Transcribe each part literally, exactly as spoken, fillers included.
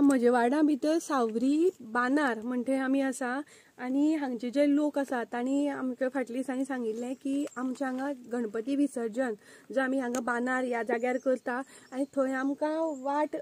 म्हजे वार्डा भितर सावरी बांदार म्हणटे आमी आसा आनी हांगचे जे लोक आसा तांणी आमकां फाटल्या दिसांनी सांगिल्लें की आमच्या हांगा गणपती विसर्जन जो आमी हांगा बांदार ह्या जाग्यार करता आनी थंय आमकां वाट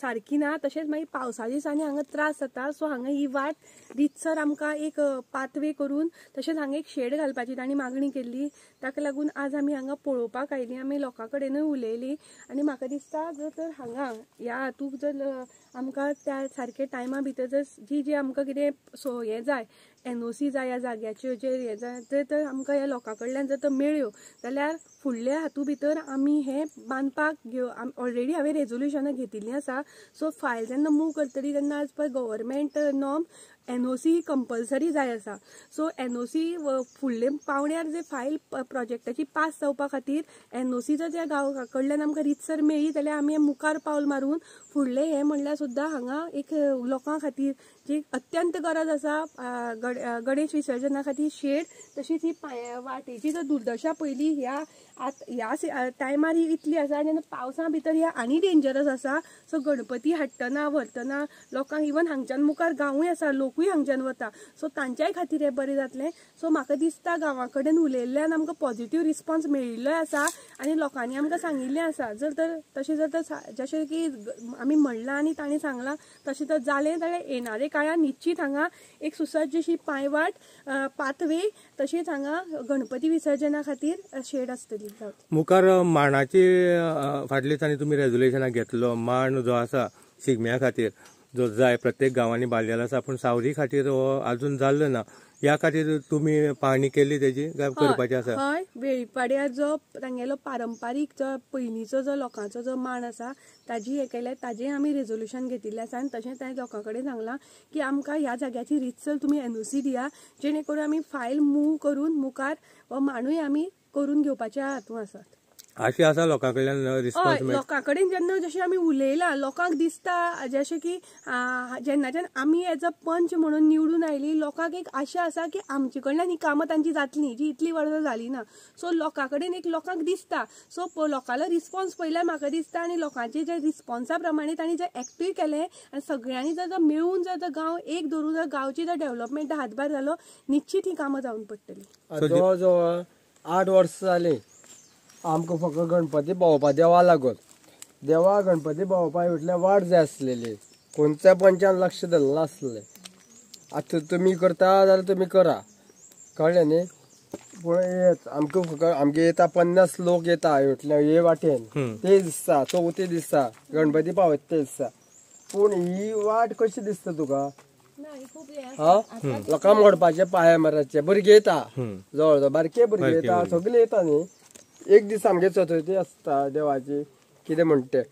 सारकी ना, तशेंच मागीर पावसा दिसांनी हांगा त्रास जाता. सो हांगा ही वाट रितसर आमकां एक पाथवे करून तशेंच हांगा एक शेड घालपाची तांणी मागणी केल्ली. ताका लागून आज आमी हांगा पळोवपाक आयली, आमी लोकां कडेनूय उलयली आनी म्हाका दिसता जर तर हांगा ह्या हातूंत जर आमकां त्या सारके टायमा भितर जर जी जी आमकां कितें सो हें जाय एन ओ सी जाय ह्या जाग्याच्यो जे हें जाय जर तर आमकां ह्या लोकां कडल्यान जर तर मेळ्यो जाल्यार फुडल्या हातूंत भितर आमी हें बांदपाक घेव ऑलरेडी हांवें रेजोल्युशनां घेतिल्लीं आसा. सो फायल जेन्ना मूव करतली तेन्ना आज पळय government norm N O C compulsory जाय आसा. सो एन ओ सी फुडले पावण्यार जे फायल प्रोजेक्टाची पास जावपा खातीर एन ओ सी जर त्या गांवा कडल्यान आमकां रितसर मेळ्ळी जाल्यार आमी मुखार पावल मारून फुडलें हें म्हणल्यार सुद्दां हांगा एक लोकां खातीर जी अत्यंत गरज आसा गणेश विसर्जना खातीर शेड, तशीच ही वाटेची जर दुर्दशा पयली ह्या ह्या टायमार ही इतली आसा आनी पावसा भितर ह्या आनी डेंजरस आसा. सो गणपती हाडटना व्हरतना लोकांक इवन हांगच्यान मुखार गांवूय आसा, लोकूय हांगच्यान वता, सो तांच्याय खातीर हें बरें जातलें. सो म्हाका दिसता गांवा कडेन उलयल्ल्यान आमकां पॉझिटिव्ह रिस्पॉन्स मेळिल्लोय आसा आनी लोकांनी आमकां सांगिल्लें आसा जर तर तशें जर तर जशें की आमी म्हणलां आनी तांणी सांगलां तशें जर जालें जाल्यार येणारे काळान निश्चीत हांगा एक सुसज्ज अशी पांयवाट पाथवे तशेंच हांगा गणपती विसर्जना खातीर शेड आसतली. मुखार माणाची फाटल्या दिसांनी तुमी रेजोल्युशनां घेतलो, माण जो आसा शिगम्या खातीर जो जाय प्रत्येक गांवांनी बांदलेलो आसा, पूण सावरी खातीर हो अजून जाल्लो ना, ह्या खातीर तुमी पाहणी केली तेजी काय करपाची आसा? हय, वेळीपाड्यार जो तांगेलो पारंपारीक जो पयलींचो जो लोकांचो जो माण आसा ताजी हें केलें, ताजें आमी रेजोल्युशन घेतिल्लें आसा आनी तशेंच ताणें लोकां कडेन सांगलां की आमकां ह्या जाग्याची रितसर तुमी एन ओ सी दिया जेणे करून आमी फायल मूव करून मुखार हो माणूय आमी करून घेवपाच्या हातूंत आसात. अशी आसा लोकां कडल्यान रिस्पॉन्स? लोकां कडेन जेन्ना जशें आमी उलयलां लोकांक दिसता जशें की जेन्नाच्यान आमी एज अ पंच म्हणून निवडून आयली लोकांक एक आशा आसा की आमचे कडल्यान ही कामां तांची जातली जी इतली वर्सां जाली ना. सो लोकां कडेन एक लोकांक दिसता, सो लोकांलो रिस्पॉन्स पळयल्यार म्हाका दिसता आनी लोकांचे जे रिस्पॉन्सा प्रमाणे तांणी जे एक्टीव केलें आनी सगळ्यांनी जर मेळून जर गांव एक धरून जर गांवची जर डेव्हलपमेंट हातभार जालो निश्चीत ही कामां जावन पडटली. जवळ जवळ आठ वर्सां जालीं आमकां फक्त गणपती भोंवपा देवा लागून देवा गणपती भोंवपा म्हटल्यार वाट जाय आसलेली, खंयच्या पंचान लक्ष दिलें नासलें. आतां तुमी करता जाल्यार तुमी करा, कळ्ळें न्ही, पूण हेच आमकां फक्त आमगे येता पन्नास लोक येता म्हटल्यार हे वाटेन ते दिसता चवथी दिसता गणपती पावयता ते दिसता, पूण ही वाट कशी दिसता तुका? हा, लोकांक मोडपाचे पांय माराचे भुरगे येता, जवळ जवळ बारके भुरगे येता, सगळे येता न्ही. एक दीस आमगे चतुर्थी आसता देवाची कितें म्हणटा तें,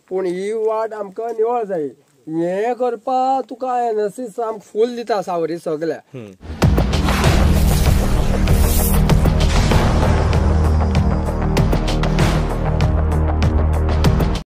पूण ही वाट आमकां निवळ जाय. हें करपा तुका एन एस सी आमकां फूल दिता सावरी सगळ्या.